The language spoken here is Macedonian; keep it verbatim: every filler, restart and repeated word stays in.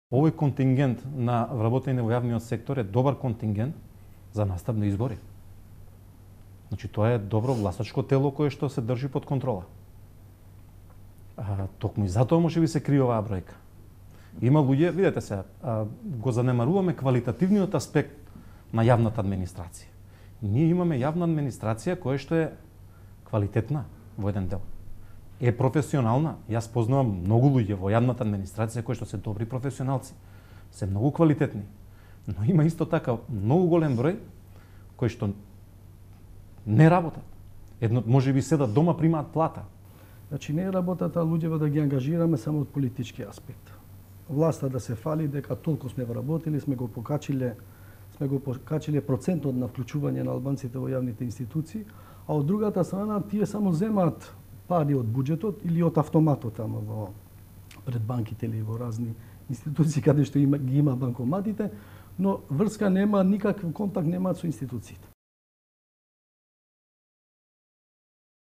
Овој контингент на вработени во јавниот сектор е добар контингент за настап на избори. Значи, тоа е добро гласачко тело кое што се држи под контрола. А, токму и затоа може би се крие оваа бројка. Има луѓе, видете се, а, го занемаруваме квалитативниот аспект на јавната администрација. Ние имаме јавна администрација која што е квалитетна во еден дел. Е професионална. Јас познавам многу луѓе во јавната администрација кои што се добри професионалци, се многу квалитетни. Но има исто така многу голем број кои што не работат. Едно може би седат дома, примаат плата. Значи не е работата луѓето да ги ангажираме само од политички аспект. Власта да се фали дека толку сме вработили, сме го покачиле, сме го покачиле процентот на вклучување на албанците во јавните институции, а од другата страна тие само земаат пари од буџетот или од автоматот тamo во пред банките или во разни институции каде што има, ги има банкоматите, но врска нема, никаков контакт немаат со институциите.